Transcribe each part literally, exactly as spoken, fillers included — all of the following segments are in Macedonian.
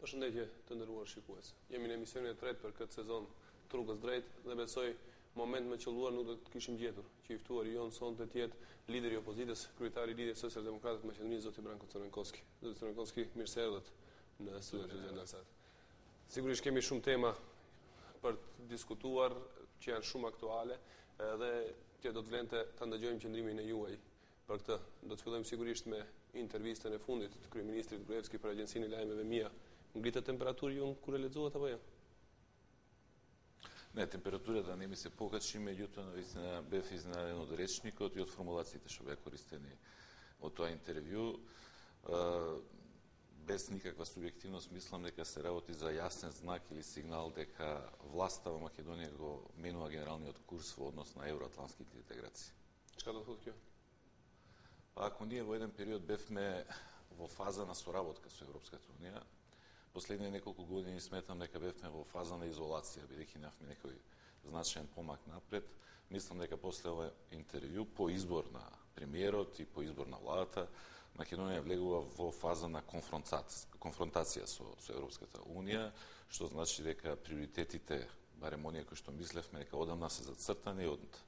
Përshëndetje të nderuar shikues. Jemi në emisionin e tretë për këtë sezon Rrugës drejt dhe besoj moment më qelluar nuk do të kishim gjetur që i ftuari jon sonte të jetë lideri i opozitës, kryetari i Lidhjes Socialdemokrate të Maqedonisë, zoti Branko Crvenkovski. Zoti Crvenkovski, mirë se erdhët në studion e Gjendasat. Sigurisht kemi shumë tema për të diskutuar që janë shumë aktuale dhe që do të vlente ta ndëgjojmë qëndrimin e juaj për këtë. Do të fillojmë sigurisht me intervistën e fundit të kryeministrit Gruevski për Agjencinë e Lajmeve Mia. Ngritet temperaturë ju kur e lexohet apo jo? Не, температурата не ми се покачи, меѓутоа навистина бев изненаден од речникот и од формулациите што беа користени од тоа интервју. Без никаква субјективност мислам дека се работи за јасен знак или сигнал дека власта во Македонија го менува генералниот курс во однос на евроатлантските интеграции. Чка да thotë kjo? Ако ние во еден период бевме во фаза на соработка со Европската унија, последните неколку години сметам дека бевме во фаза на изолација, бидејќи немавме некој значаен помак напред. Мислам дека после ова интервју, по избор на премиерот и по избор на владата, Македонија влегува во фаза на конфронтација, конфронтација со, со Европската унија, што значи дека приоритетите, барем оние кои што мислевме дека одамна се зацртани од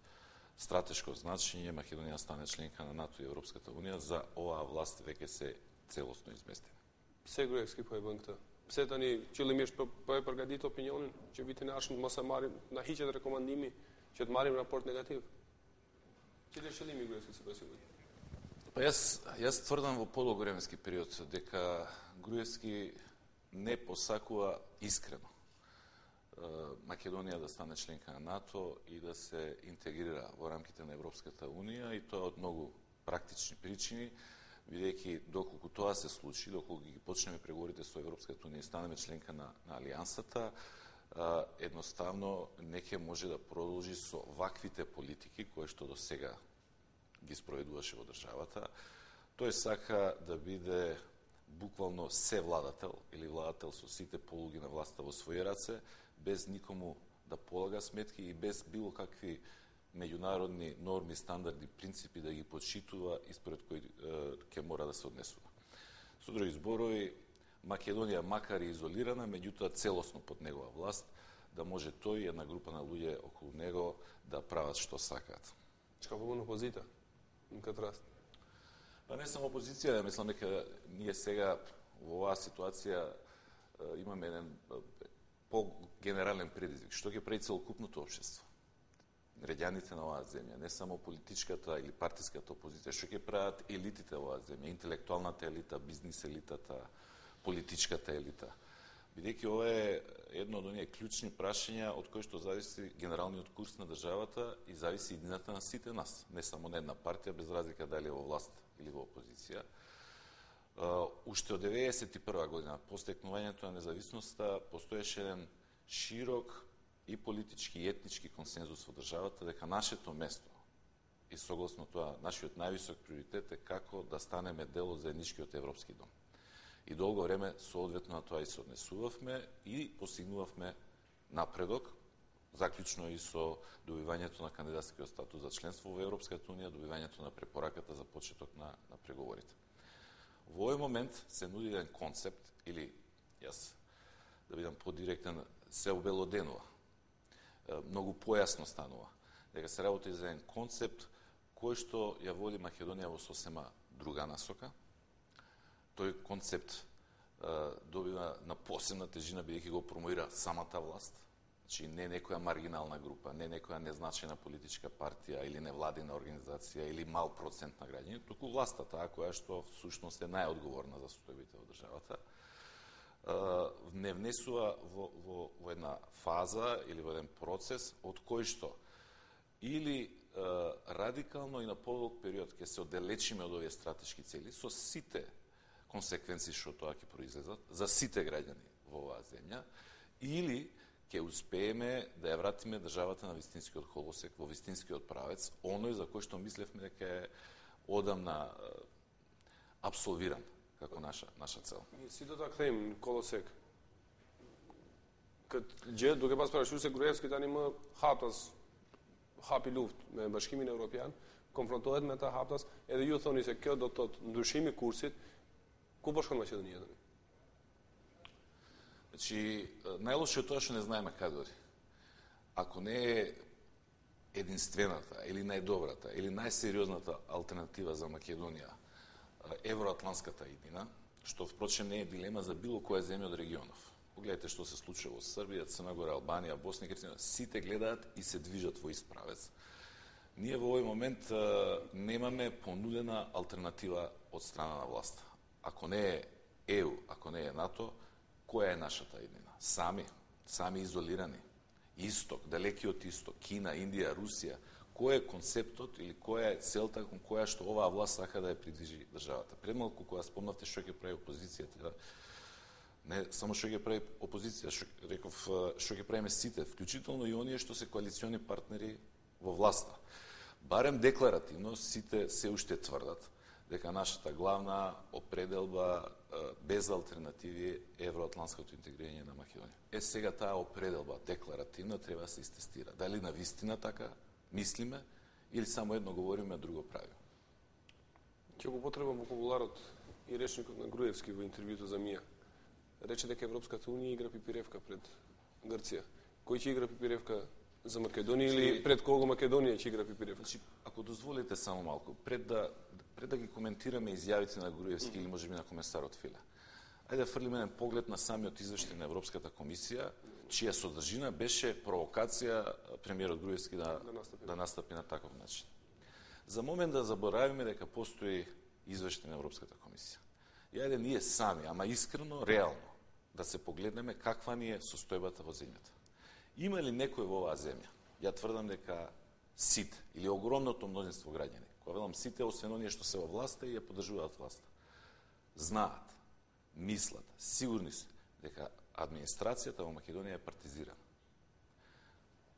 стратешко значење Македонија стане членка на НАТО и Европската унија, за оваа власт веќе се целосно изместени. Pse Gruevski po e bën këtë? Pse tani qëllimisht po, po e përgatit opinionin që vitin e ardhshëm mos e marrim, na hiqet rekomandimi që të marrim raport negativ? Cili është qëllimi i Gruevskit sipas juaj? Па јас јас тврдам во подолговременски период дека Груевски не посакува искрено Македонија да стане членка на НАТО и да се интегрира во рамките на Европската унија, и тоа од многу практични причини, бидејќи доколку тоа се случи, доколку ги почнеме преговорите со Европската унија и станеме членка на, на алијансата, едноставно не ќе може да продолжи со ваквите политики кои што до сега ги спроведуваше во државата. Тој сака да биде буквално се владател или владател со сите полуги на власта во своји раце, без никому да полага сметки и без било какви меѓународни норми, стандарди, принципи да ги почитува и според кои ќе мора да се однесува. Со други зборови, Македонија макар и изолирана, меѓутоа целосно под негова власт, да може тој и една група на луѓе околу него да прават што сакаат. Чка побун опозита на кај раст? Па не само опозиција, мислам дека ние сега во оваа ситуација имаме еден по-генерален предизвик. Што ќе прави целокупното општество? Граѓаните на оваа земја, не само политичката или партиската опозиција, што ќе прават елитите во оваа земја, интелектуалната елита, бизнис елитата, политичката елита. Бидејќи ова е едно од оние клучни прашања од кои што зависи генералниот курс на државата и зависи иднината на сите нас, не само на една партија, без разлика дали е во власт или во опозиција. Уште од деветдесет и прва година, по стекнувањето на независноста, постоеше еден широк и политички и етнички консензус во државата дека нашето место и согласно тоа нашиот највисок приоритет е како да станеме дел од заедничкиот европски дом. И долго време соодветно на тоа и се однесувавме и постигнувавме напредок, заклучно и со добивањето на кандидатскиот статус за членство во Европската унија, добивањето на препораката за почеток на, на преговорите. Во овој момент се нуди еден концепт, или јас да бидам подиректен, се обелоденува. Многу појасно станува дека се работи за еден концепт кој што ја води Македонија во сосема друга насока. Тој концепт добива на посебна тежина бидејќи го промоира самата власт, значи не некоја маргинална група, не некоја незначајна политичка партија или невладина организација или мал процент на граѓани, туку власта таа која што всушност е најодговорна за состојбите во државата, не внесува во, во, во една фаза или во еден процес од кој што или е, радикално и на подолг период ќе се оддалечиме од овие стратешки цели со сите консеквенции што тоа ќе произлезат за сите граѓани во оваа земја, или ќе успееме да ја вратиме државата на вистинскиот колосек, во вистинскиот правец, оној за кој што мислевме дека е одамна е, абсолвиран како наша наша цел. Si do ta kthejmë në kolosek? Këtë gjë duke pas paraqyshur se Gruevski tani më haptas hapi luftë me Bashkimin Evropian, konfrontohet me ata haptas, edhe ju thoni se kjo do të thotë ndryshimi i kursit, ku po shkon Maqedonia tani? Значи, најлошо е тоа што не знаеме каде оди. Ако не е единствената, или најдобрата, или најсериозната алтернатива за Македонија, евроатланската иднина, што впрочем не е дилема за било која земја од регионов. Погледнете што се случува во Србија, Црна Гора, Албанија, Босна и Херцеговина, сите гледаат и се движат во ист правец. Ние во овој момент немаме понудена алтернатива од страна на власта. Ако не е Е У, ако не е НАТО, која е нашата иднина? Сами, сами изолирани. Исток, далекиот исток, Кина, Индија, Русија, кој е концептот или која е целта кон која што оваа власт сака да ја придвижи државата. Премалку кога спомнавте што ќе прави опозицијата, не само што ќе прави опозиција, што реков што ќе правиме сите, вклучително и оние што се коалициони партнери во власта. Барем декларативно сите се уште тврдат дека нашата главна определба без алтернативи е евроатлантското интегрирање на Македонија. Е сега таа определба декларативно треба да се истестира. Дали на вистина така мислиме или само едно говориме, а друго правиме. Ќе го потребам вокабуларот и речникот на Груевски во интервјуто за Мија. Рече дека Европската унија игра пипиревка пред Грција. Кој ќе игра пипиревка за Македонија или пред кого Македонија ќе игра пипиревка? Значи, ако дозволите само малку, пред да пред да ги коментираме изјавите на Груевски mm. или можеби на комесарот Филе, ајде да фрлиме еден поглед на самиот извештај на Европската комисија, чија содржина беше провокација премиерот Груевски да, да, настапи. да настапи на таков начин. За момент да заборавиме дека постои извештај на Европската комисија. И ајде ние сами, ама искрено, реално, да се погледнеме каква ни е состојбата во земјата. Има ли некој во оваа земја? Ја тврдам дека сите, или огромното мнозинство граѓани, кога велам сите, освен оние што се во власта и ја поддржуваат власта, знаат, мислат, сигурни се дека администрацијата во Македонија е партизирана.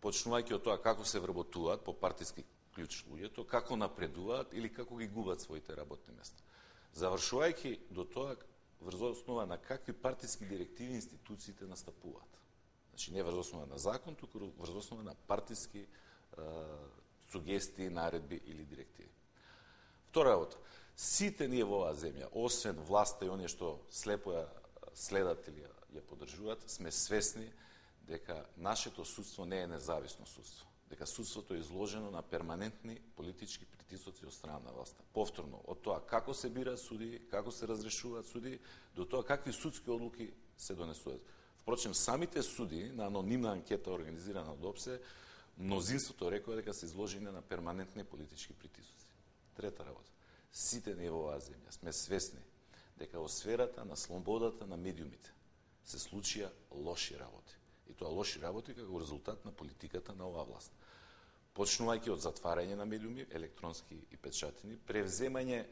Почнувајќи од тоа како се вработуваат по партиски клjuč луѓето, како напредуваат или како ги губат своите работни места. Завршувајќи до тоа врз основа на какви партиски директиви институциите настапуваат. Значи не врз основа на закон, туку врз основа на партиски е, сугестии, наредби или директиви. Втора работа, сите ние во оваа земја, освен власта и оние што слепо ја следат или ја, ја поддржуваат, сме свесни дека нашето судство не е независно судство, дека судството е изложено на перманентни политички притисоци од страна на власта. Повторно, од тоа како се бираат суди, како се разрешуваат суди, до тоа какви судски одлуки се донесуваат. Впрочем, самите суди на анонимна анкета организирана од ОПСЕ, мнозинството рекоа дека се изложени на перманентни политички притисоци. Трета работа. Сите ние во оваа земја сме свесни дека во сферата на слободата на медиумите се случија лоши работи. И тоа лоши работи како резултат на политиката на оваа власт. Почнувајќи од затварање на медиуми, електронски и печатени, превземање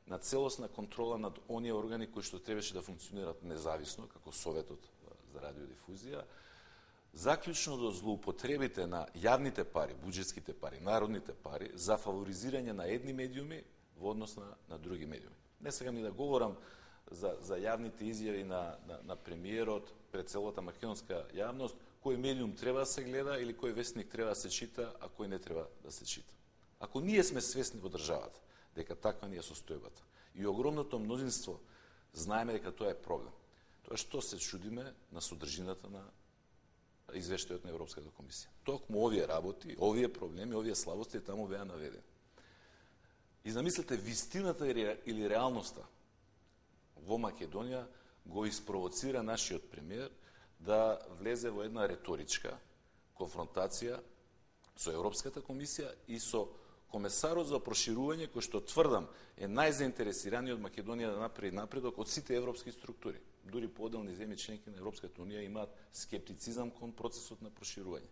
на целосна контрола над оние органи кои што требаше да функционират независно, како Советот за радиодифузија, заклучно до злоупотребите на јавните пари, буџетските пари, народните пари, за фаворизирање на едни медиуми во однос на, на други медиуми. Не сакам ни да говорам за, за јавните изјави на, на, на премиерот пред целата македонска јавност, кој медиум треба да се гледа или кој вестник треба да се чита, а кој не треба да се чита. Ако ние сме свесни во државата дека таква ни е состојбата и огромното мнозинство знаеме дека тоа е проблем, тоа што се чудиме на содржината на извештајот на Европската комисија. Токму овие работи, овие проблеми, овие слабости таму беа наведени. И замислете, вистината или реалноста во Македонија го испровоцира нашиот премиер да влезе во една реторичка конфронтација со Европската комисија и со комесарот за проширување, кој што тврдам е најзаинтересираниот Македонија да направи напредок од сите европски структури. Дури поделни земји членки на Европската унија имаат скептицизам кон процесот на проширување.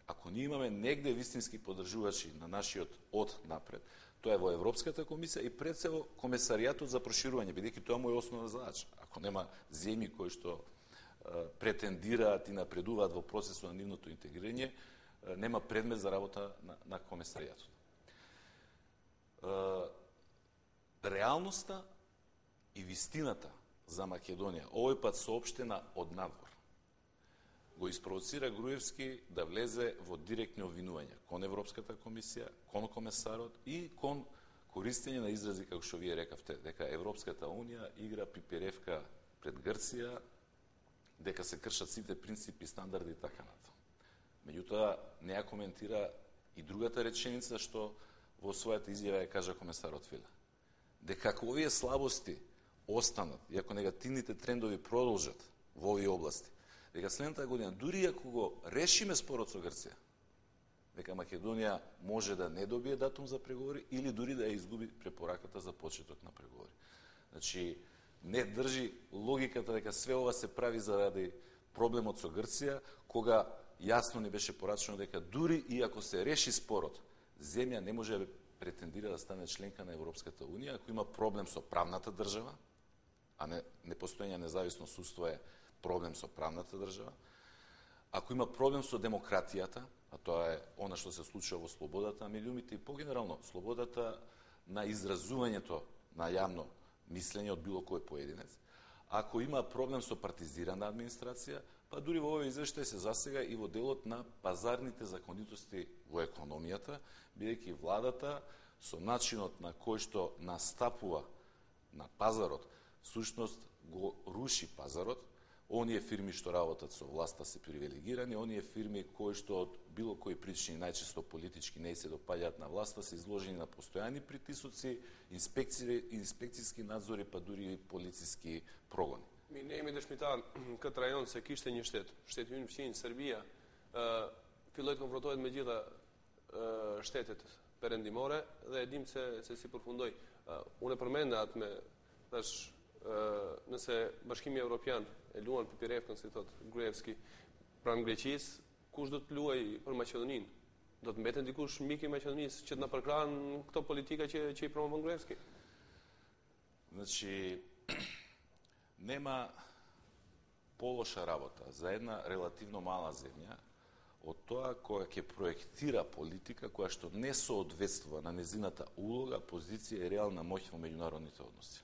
Ако ние имаме негде вистински поддржувачи на нашиот од напред, тоа е во Европската комисија и пред се во комесаријатот за проширување, бидејќи тоа му е основна задача. Ако нема земји кои што е, претендираат и напредуваат во процесот на нивното интегрирање, е, нема предмет за работа на, на комесаријатот. Е, реалноста и вистината за Македонија, овој пат соопштена од надвор, го испровоцира Груевски да влезе во директни обвинувања кон Европската комисија, кон комесарот и кон користење на изрази, како што вие рекавте, дека Европската унија игра пиперевка пред Грција дека се кршат сите принципи, стандарди и така натаму. Меѓутоа, не ја коментира и другата реченица што во својата изјава ја кажа комесарот Филе. Дека ако овие слабости останат и ако негативните трендови продолжат во овие области, дека следната година, дури ако го решиме спорот со Грција, дека Македонија може да не добие датум за преговори или дури да ја изгуби препораката за почеток на преговори. Значи, не држи логиката дека све ова се прави заради проблемот со Грција, кога јасно не беше порачено дека дури и ако се реши спорот, земја не може да претендира да стане членка на Европската Унија, ако има проблем со правната држава, а не непостоење независно судство е проблем со правната држава, ако има проблем со демократијата, а тоа е она што се случува во слободата на медиумите и погенерално слободата на изразувањето на јавно мислење од било кој поединец, ако има проблем со партизирана администрација, па дури во овој извештај се засега и во делот на пазарните законитости во економијата, бидејќи владата со начинот на кој што настапува на пазарот, сушност го руши пазарот. Оние фирми што работат со власта се привилегирани, оние фирми кои што од било кои причини, најчесто политички, не се допаѓаат на власта, се изложени на постојани притисоци, инспекции, инспекцијски надзори, па дури и полициски прогони. Mi ne jemi dëshmitar këtë rajon se kishte një shtet, shteti ynë fqinj, Serbia, uh, filloi të konfrontohet me gjitha uh, shtetet perëndimore dhe e dim se, se si përfundoi. Uh, unë e përmenda atë me, tash, uh, nëse Bashkimi Evropian e luan Pipirevkën, si thot Gruevski, pranë Greqisë, kush do të luaj për Maqedoninë? Do të mbeten dikush mik i Maqedonisë që të na përkrahen këto politika që, që i promovon Gruevski? Значи, нема полоша работа за една релативно мала земја од тоа која ќе проектира политика која што не соодветствува на незината улога, позиција и реална моќ во меѓународните односи.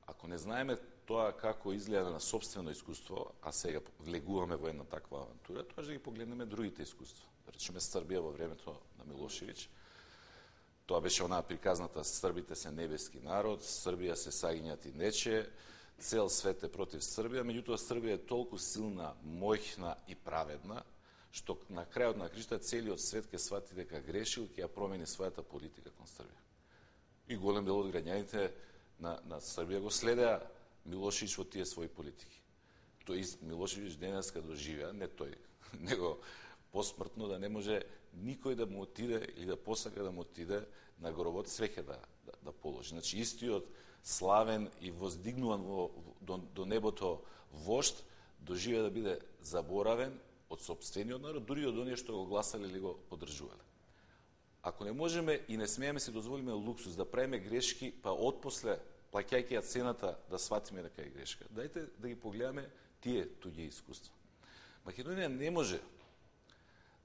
Ако не знаеме тоа како изгледа на собствено искуство, а сега влегуваме во една таква авантура, тоа ќе ги погледнеме другите искуства. Да речеме Србија во времето на Милошевиќ, тоа беше онаа приказната србите се небески народ, Србија се сагињат и нече, цел свет е против Србија, меѓутоа Србија е толку силна, моќна и праведна, што на крајот на кришта целиот свет ќе свати дека грешил, ќе ја промени својата политика кон Србија. И голем дел од граѓаните на, на Србија го следеа Милошевиќ во тие своји политики. Тој ист Милошевиќ денеска доживеа, не тој, него посмртно да не може никој да му отиде или да посака да му отиде на гробот свеќе да, да, да положи. Значи, истиот славен и воздигнуван во, до, до небото вожд доживе да биде заборавен од сопствениот народ, дури од оние што го гласале или го поддржувале. Ако не можеме и не смееме си дозволиме луксус да правиме грешки, па отпосле, плаќајќи ја цената, да сватиме дека е грешка, дајте да ги погледаме тие туѓи искуства. Македонија не може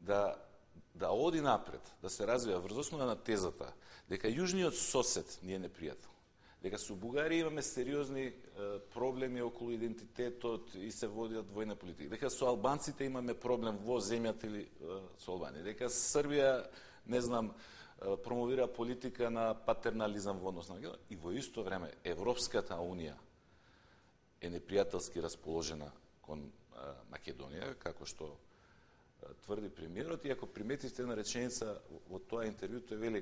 да да оди напред, да се развива врз основа на тезата дека јужниот сосед ни е непријател, дека со Бугарија имаме сериозни е, проблеми околу идентитетот и се водат војна политика, дека со албанците имаме проблем во земјата или е, со Албанија, дека Србија, не знам, е, промовира политика на патернализам во однос на Македонија, и во исто време Европската Унија е непријателски расположена кон е, Македонија, како што тврди премиерот, и ако приметивте една реченица во тоа интервју, тој вели,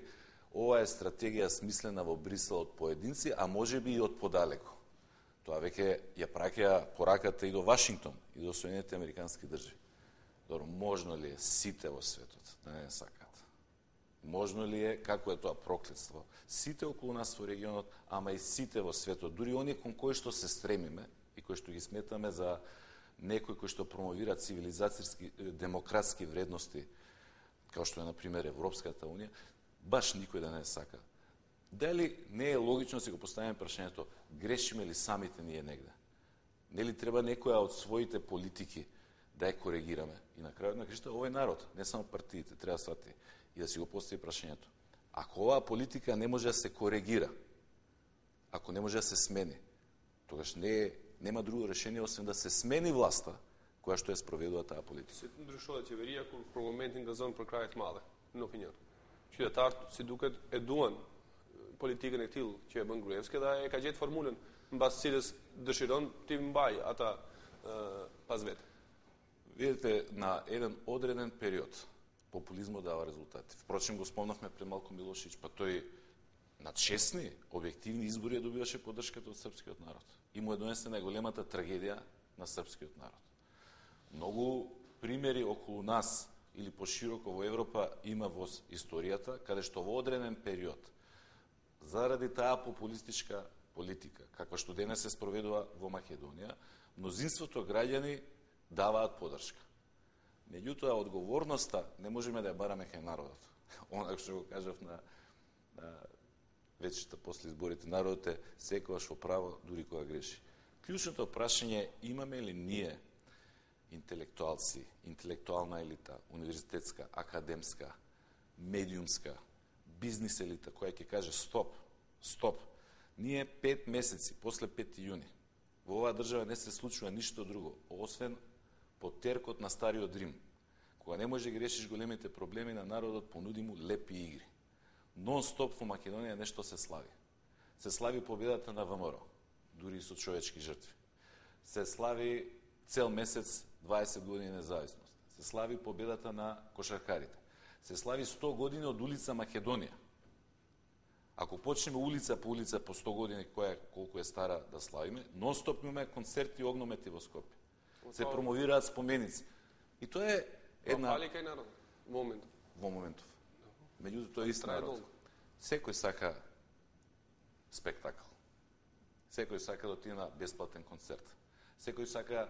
ова е стратегија смислена во Брисел од поединци, а може би и од подалеку. Тоа веќе ја праќа пораката и до Вашингтон, и до Соединените Американски држави. Добро, можно ли е сите во светот да не сакат? Можно ли е, како е тоа проклетство, сите околу нас во регионот, ама и сите во светот, дури оние кон кои што се стремиме и кои што ги сметаме за некои кои што промовира цивилизацијски, демократски вредности, како што е, например, Европската Унија, баш никој да не сака. Дали не е логично да си го поставиме прашањето, грешиме ли самите ние негде? Нели треба некоја од своите политики да ја коригираме? И на крајот на кришта, овој народ, не само партиите, треба да свати и да си го постави прашањето. Ако оваа политика не може да се коригира, ако не може да се смени, тогаш не е нема друго решение освен да се смени власта која што е спроведува таа политика. Се ndryshohet qeveria kur për momentin gazon për kraje të madhe, në opinion. Qytetarët si duket e duan politikën e tillë që e bën Gruevski dhe e ka gjetë formulën mbas cilës dëshiron ti mbaj ata uh, pas vetë. Видите, на еден одреден период популизмот дава резултати. Впрочем, го спомнавме пред малку Милошевиќ, па тој на честни, објективни избори ја добиваше поддршката од српскиот народ. И му е донесе најголемата трагедија на српскиот народ. Многу примери околу нас или пошироко во Европа има во историјата, каде што во одреден период, заради таа популистичка политика, каква што денес се спроведува во Македонија, мнозинството граѓани даваат поддршка. Меѓутоа, одговорноста не можеме да ја бараме кај народот. Онак што го кажав на, на вечерта после изборите, народот е секогаш во право, дури кога греши. Клучното прашање е, имаме ли ние интелектуалци, интелектуална елита, универзитетска, академска, медиумска, бизнис елита, која ќе каже стоп, стоп. Ние пет месеци, после пети јуни, во оваа држава не се случува ништо друго, освен по теркот на стариот Рим. Кога не може да ги решиш големите проблеми на народот, понуди му лепи игри. Нон-стоп во Македонија нешто се слави. Се слави победата на ВМРО, дури и со човечки жртви. Се слави цел месец дваесет години независност. Се слави победата на кошаркарите. Се слави сто години од улица Македонија. Ако почнеме улица по улица по сто години, која колку е стара да славиме, нон-стоп имаме концерти и огномети во Скопје. Се промовираат споменици. И тоа е една... Фали кај народ, во моментов. Во моментов. Меѓутоа, тоа е ист народ. Секој сака спектакл. Секој сака да отиде на бесплатен концерт. Секој сака,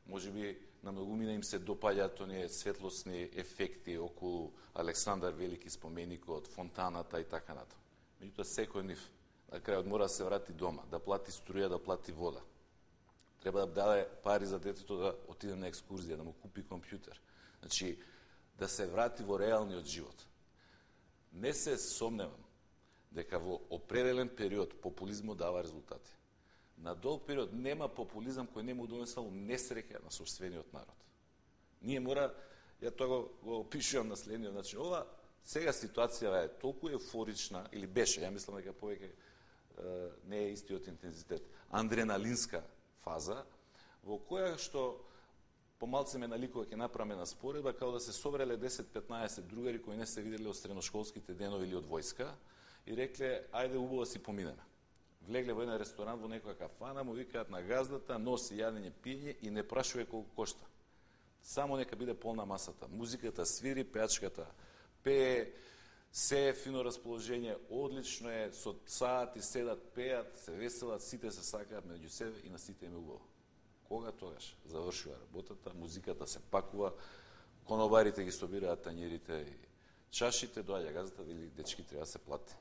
може би, на многумина им се допаѓаат оние светлосни ефекти околу Александар Велики споменикот, фонтаната и така натаму. Меѓутоа, секој нив на крајот мора да се врати дома, да плати струја, да плати вода. Треба да даде пари за детето да отиде на екскурзија, да му купи компјутер. Значи, да се врати во реалниот живот. Не се сомневам дека во определен период популизмот дава резултати. На долг период нема популизам кој не му донесал несреќа на собствениот народ. Ние мора, ја тоа го, го опишувам на следниот начин, ова сега ситуацијава е толку еуфорична, или беше, ја мислам дека повеќе е, не е истиот интензитет, адреналинска фаза, во која што помалце ме наликува ќе направиме на споредба, као да се собрале десет-петнаесет другари кои не се виделе од средношколските денови или од војска и рекле, ајде убаво си поминеме. Влегле во еден ресторант, во некоја кафана, му викаат на газдата, носи јадење, пиење и не прашува колку кошта. Само нека биде полна масата. Музиката свири, пеачката пее, се е фино расположение, одлично е, со саати седат, пеат, се веселат, сите се сакаат меѓу себе и на сите им е убаво. Кога тогаш завршува работата, музиката се пакува, конобарите ги собираат тањерите и чашите, доаѓа газата, или дечки треба да се плати.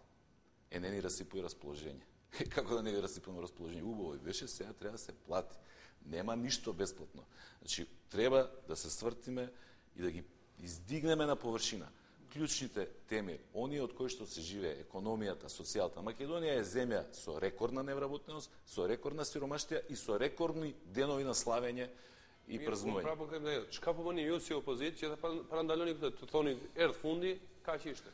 Е, не ни расипува расположение. Како да не ви расипуваме расположение? Убаво и беше, сега треба да се плати. Нема ништо бесплатно. Значи, треба да се свртиме и да ги издигнеме на површина. Клучните теми, оние од кои што се живее, економијата, социјалата. Македонија е земја со рекордна невработеност, со рекордна сиромаштија и со рекордни денови на славење и празнување. Право кај мене, чка по bëni ju si opozitë që ta parandaloni këtë, të thoni erdh fundi, kaq ishte.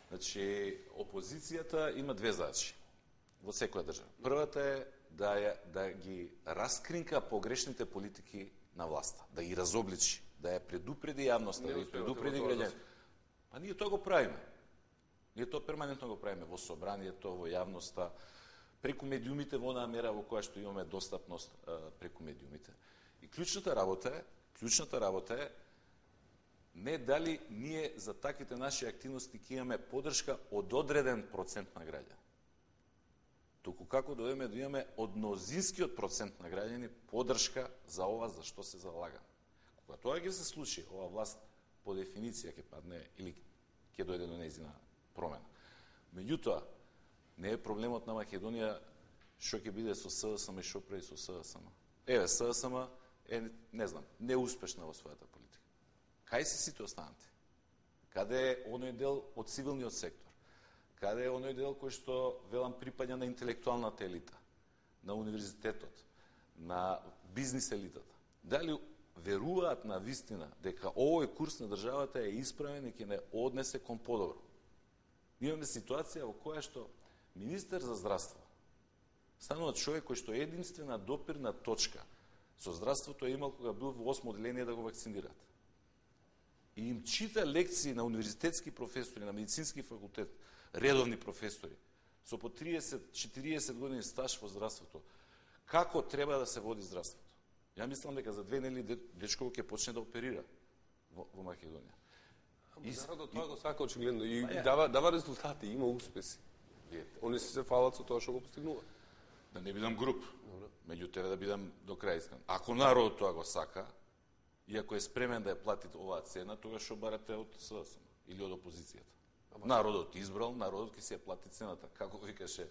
Значи, опозицијата има две задачи во секоја држава. Првата е да, ја, да ги раскринка погрешните политики на власта, да ги разобличи, да ја предупреди јавноста, да ги предупреди граѓаните. А ние тоа го правиме. Ние тоа перманентно го правиме во собранието, во јавноста, преку медиумите во онаа мера во која што имаме достапност а, преку медиумите. И клучната работа е, клучната работа е не дали ние за таквите наши активности ќе имаме поддршка од одреден процент на граѓани. Туку како дојдеме да имаме од мнозинскиот процент на граѓани поддршка за ова за што се залагаме. Кога тоа ќе се случи, ова власт по дефиниција ќе падне или ќе дојде до нејзина промена. Меѓутоа, не е проблемот на Македонија што ќе биде со СДСМ и што прави со СДСМ. Еве, СДСМ е, не знам, неуспешна во својата политика. Кај се сите останати? Каде е оној дел од цивилниот сектор? Каде е оној дел кој што, велам, припаѓа на интелектуалната елита, на универзитетот, на бизнис елитата? Дали веруваат на вистина дека овој курс на државата е исправен и ќе не однесе кон подобро? Имаме ситуација во која што Министер за здравство станува човек кој што е единствена допирна точка со здравството е имал кога бил во осмо одделение да го вакцинираат. И им чита лекции на универзитетски професори, на медицински факултет, редовни професори, со по триесет четириесет години стаж во здравството, како треба да се води здравството. Ја мислам дека за две недели дечко ќе почне да оперира во, во Македонија. И народот тоа го сака очигледно и па, дава дава резултати, има успеси. Они се се фалат со тоа што го постигнува. Да не бидам груб, меѓу тебе да бидам до крај искрен. Ако народот тоа го сака, и ако е спремен да ја плати оваа цена, тогаш што барате од СДСМ или од опозицијата. Народот избрал, народот ќе си ја плати цената. Како викаше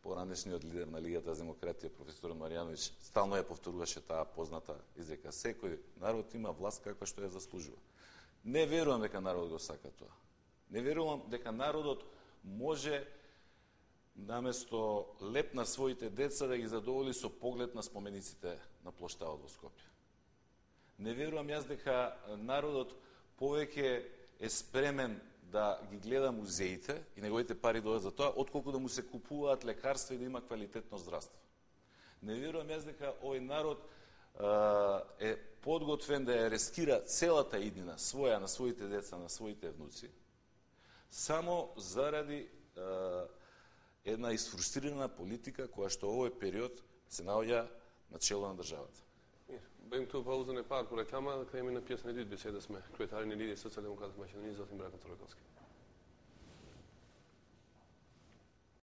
поранешниот лидер на Лигата за демократија, професор Маријановиќ, стално ја повторуваше таа позната изрека. Секој народ има власт каква што ја заслужува. Не верувам дека народот го сака тоа. Не верувам дека народот може наместо леп на своите деца да ги задоволи со поглед на спомениците на плоштадот во Скопје. Не верувам јас дека народот повеќе е спремен да ги гледа музеите и неговите пари дојдат за тоа, отколку да му се купуваат лекарства и да има квалитетно здравство. Не верувам јас дека овој народ а, е подготвен да ја рискира целата иднина своја на своите деца, на своите внуци, само заради а, една изфрустрирана политика која што овој период се наоѓа на чело на државата. Бем tu pauză ne par cu reklama, că e mi na piesă ne dit beseda sme, kretari ne lidi socijaldemokratske Makedonije, zatim Dragan Corokovski.